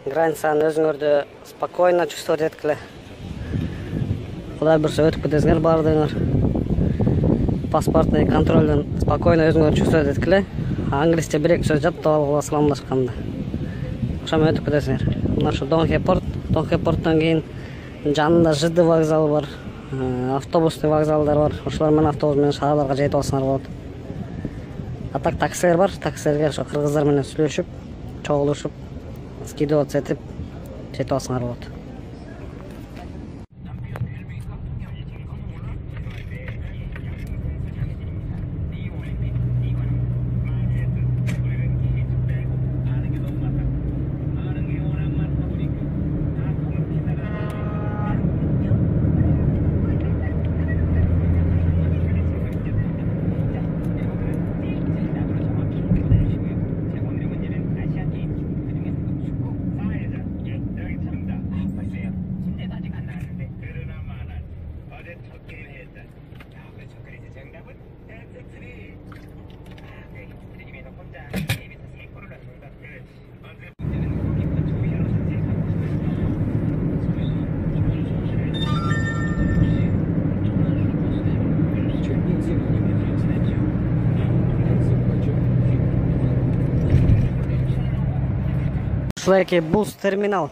границаны өзүңөрдү спокойно чувствовать эткиле. Кудай буюрса өтүп кетесиңер баардыгыңар. Паспортный контролдон спокойно өзүңөр чувствовать эткиле. Англисче бир-эки сөз жаттап алгыла саламдашканда. Ошону өтүп кетесиңер. Мына ушу Донхепорттон кийин жанында ЖД вокзалы бар, автобустный вокзалдар бар. Ошолор менен автобус менен шаарларга жетип алсаңар болот. А так таксилер бар. Таксилерге ошо кыргыздар менен сүйлөшүп, чогулушуп, скидываться этип жетип алсаңар болот. Ушулайки бус терминал.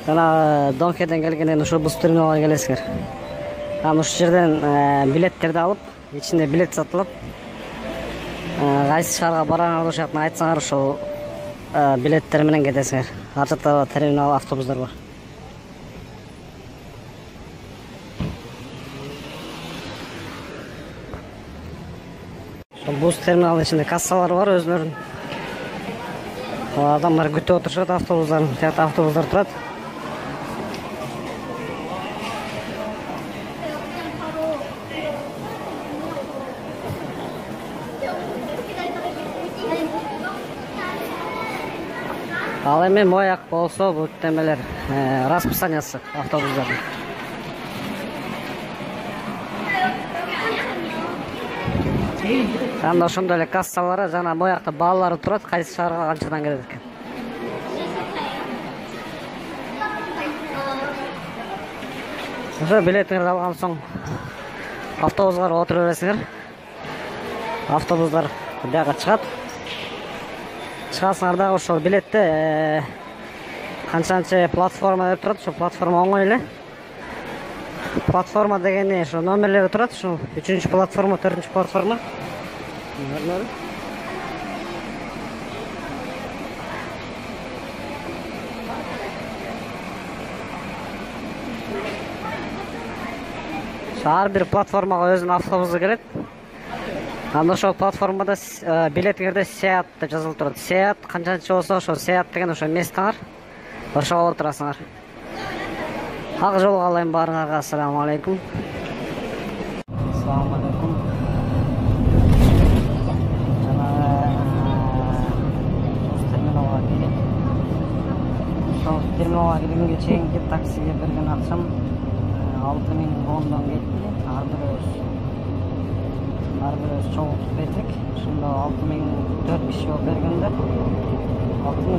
Жана Донхеден келгенден ошо бус терминалга келесиңер. Анан ушул жерден билеттерди алып, ичинде билет сатылып, кайсы шаарга бараңар ошону айтсаңар, ошол билеттер менен кетесиңер. Ар жакта терминал автобустар бар. Бус терминалдын ичинде кассалар бар өзүлөрүнүн. Адамдар күтүп отурушат автобустарын. Тиякта автобустар турат. Ал эми мояк болсо бул темелер расписаниясы автобустардын. Анда ошондой эле кассалары жана моякта баалары турат, кайсы шаарга канчадан келет экен. Ошо билетиңерди алган соң автобуска отура бересиңер. Автобустар бияка чыгат. Чыгасыңар дагы ошол билетте канчанчы платформа деп турат, ошо платформа оңой эле. Платформа дегени ошо номерлери турат, ушул 3-чү платформа, 4-чү платформа. Ар бир платформага өзүнүн автобусу келет. Анда ошол платформада билетиңерде Seat деп жазылып турат. Seat канчанчы болсо, ошо Seat деген ошо местаңар. Ошого отурасыңар. Ак жол каалайм баарыңарга. Ассаламу алейкум. Ассаламу алейкум. Терминалга келгенге чейинки таксиге берген акчам 6000 вондон кетти. Ар бир чогултуп бертик. Ошондо 6004 киши болуп бергенде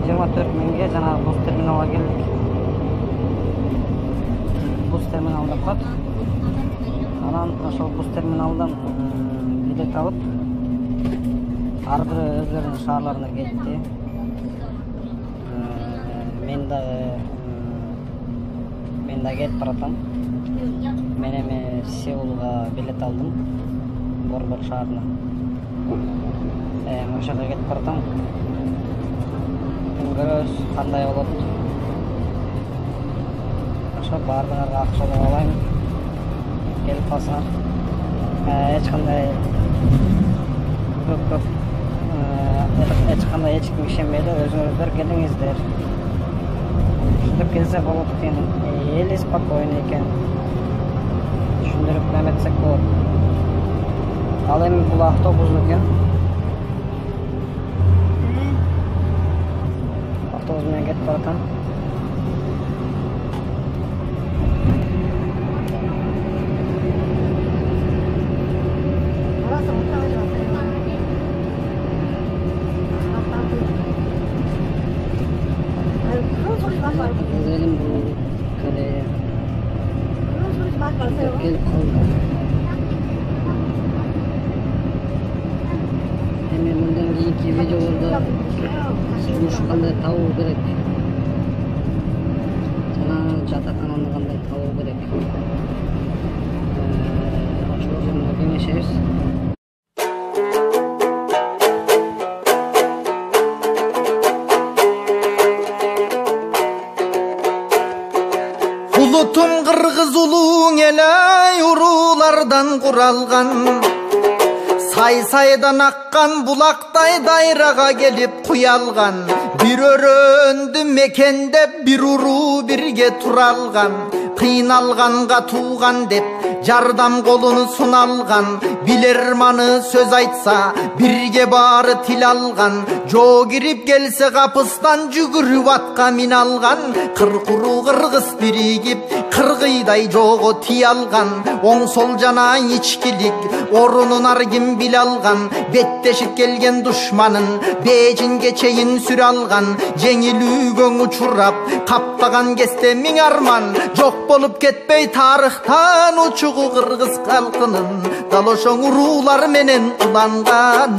24 жана бус терминалга келдик. Бус терминалда кат. Анан ошол бус терминалдан билет алып, ар бир өзлөрүнүн шаарларына кетти. Мен да кетип баратам. Мен эми Сеулга билет алдым. Борбор шаарына. Ошого кетип баратам. Көрөбүз кандай болот. Ошо баардыгыңарга ак жол каалайм. Келип калсаңар. Эч кандай эч ким ишенбейди, өзүңүздөр келиңиздер. Ушинтип келсе болот экен. Эли спокойно экен. Түшүндүрүп эметсек болот. Ал эми бул автобус экен. Автобус менен кетип баратам. Özelim bu kaleye. Gelip kaldı. Hemen bundan keyinki videolarda turmuş qanday табуу керек. Жана жатакананы qanday табуу керек. Ошол жөнүндө кеңешебиз. Улутум кыргыз улуң эле урулардан куралган. Сай-сайдан аккан булактай дайрага келип куялган. Бир өрөндү мекендеп бир уруу бирге туралган. Кыйналганга тууган деп жардам колуну суналган. Билерманы сөз айтса бирге баары тил алган. Жоо кирип келсе капыстан жүгүрүп атка мин алган. Кыркуруу кыргыз биригип кыргыйдай жоого тие алган. Оң сол жана ичкилик орунун ар ким биле алган. Беттешип келген душманын бежинге чейин сүрө алган. Жеңилүүгө учурап каптаган кезде миң арман. Жок болуп кетпей тарыхтан учугу кыргыз калкынын дал ошоң уруулар менен уланган.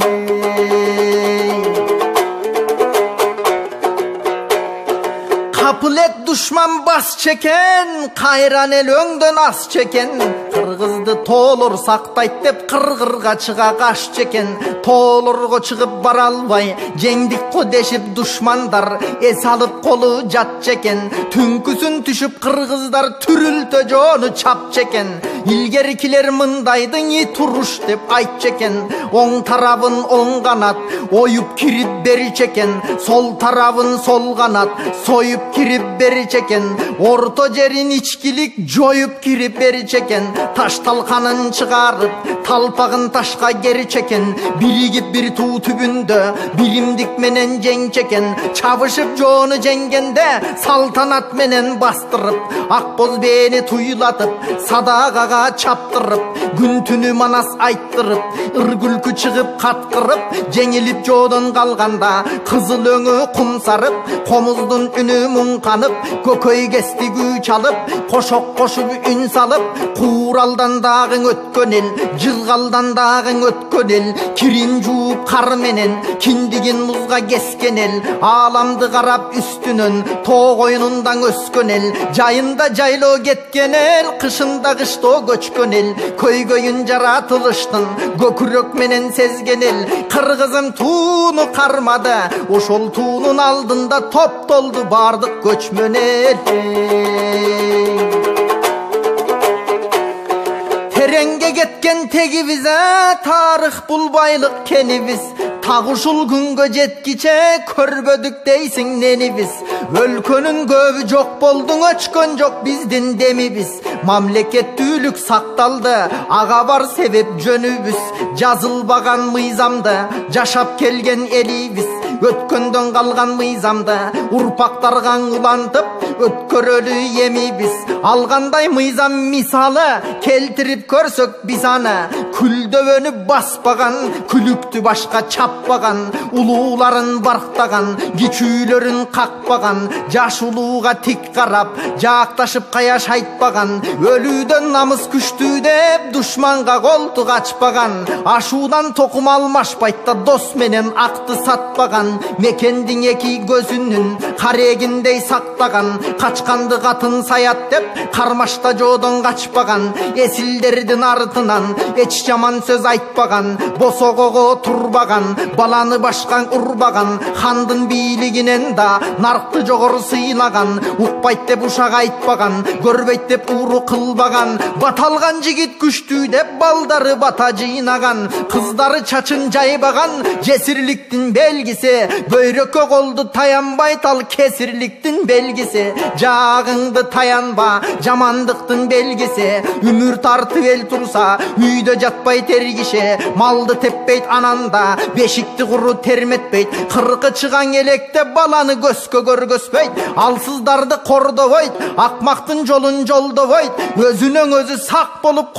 Капылет душман бас чекен, кайран эл өңдөн ас чекен. Кыргызды тоолор сактайт деп кыргырга чыга каш чекен. Тоолорго чыгып бара албай жеңдик ко дешип душмандар эс алып колу жат чекен. Түнкүсүн түшүп кыргыздар түрүлтө жоону чап чекен. Илгеркилер мындайдың и туруш деп айт чекен. Оң тарабын оң канат оюп кирип бери чекен. Сол тарабын сол канат союп кирип бери чекен. Орто жерин ичкилик жоюп кирип бери чекен. Таш талканын чыгарып талпагын ташка кери чекен. Биригип бир туу түбүндө биримдик менен жең чекен. Чабышып жоону жеңгенде салтанат менен бастырып ак боз бээни туйлатып садагага чаптырып күн түнү манас айттырып ыр күлкү чыгып каткырып жеңилип жоодон калганда кызыл өңү кум сарып комуздун үнү муңканып көкөй кести күү чалып кошок кошуп үн салып кууралдан дагың өткөн эл жыргалдан дагың өткөн эл кирин жууп кар менен киндигин музга кескен эл ааламды карап үстүнөн тоо коюнундан өскөн эл жайында жайлоо кеткен эл кышында кыштоо көчкөн эл көйгөйүн жаратылыштын көкүрөк менен сезген эл кыргызым тууну кармады ошол туунун алдында топтолду бардык көчмөн эл тереңге кеткен тегибиз тарых бул байлык кенибиз так ушул күнгө жеткиче көрбөдүк дейсиң ненибиз өлкөнүн көбү жок болдуң өчкөн жок биздин демибиз мамлекеттүүлүк сакталды ага бар себеп жөнүбүз жазылбаган мыйзамды жашап келген элибиз өткөндөн калган мыйзамды урпактарга улантып өткөрөлү эмибиз алгандай мыйзам мисалы келтирип көрсөк биз аны күлдөбөнү баспаган күлүктү башка чаппаган улууларын барктаган кичүүлөрүн какпаган жаш улууга тик карап жаакташып каяш айтпаган өлүүдөн намыс күчтүү деп душманга колтук ачпаган ашуудан токум алмашпайт да дос менен акты сатпаган мекендин эки көзүнүн карегиндей сактаган качканды катын саят деп кармашта жоодон качпаган эсилдердин артынан эч жаман сөз айтпаган босогого турбаган баланы башкан урбаган хандын бийлигинен да наркты жогору сыйлаган укпайт деп ушак айтпаган көрбөйт деп ууру кылбаган баталган жигит күчтүү деп балдары бата жыйнаган кыздары чачын жайбаган жесирликтин белгиси бөйрөккө колду таянбайт ал кесирликтин белгиси жаагыңды таянба жамандыктын белгиси өмүр тартып эл турса үйдө жатпай тергише малды теппейт ананда бешикти куру терметпейт кыркы чыгаң электе баланы көзгө көргөзбөйт алсыздарды кордобойт акмактын жолун жолдобойт өзүнөн өзү сак болуп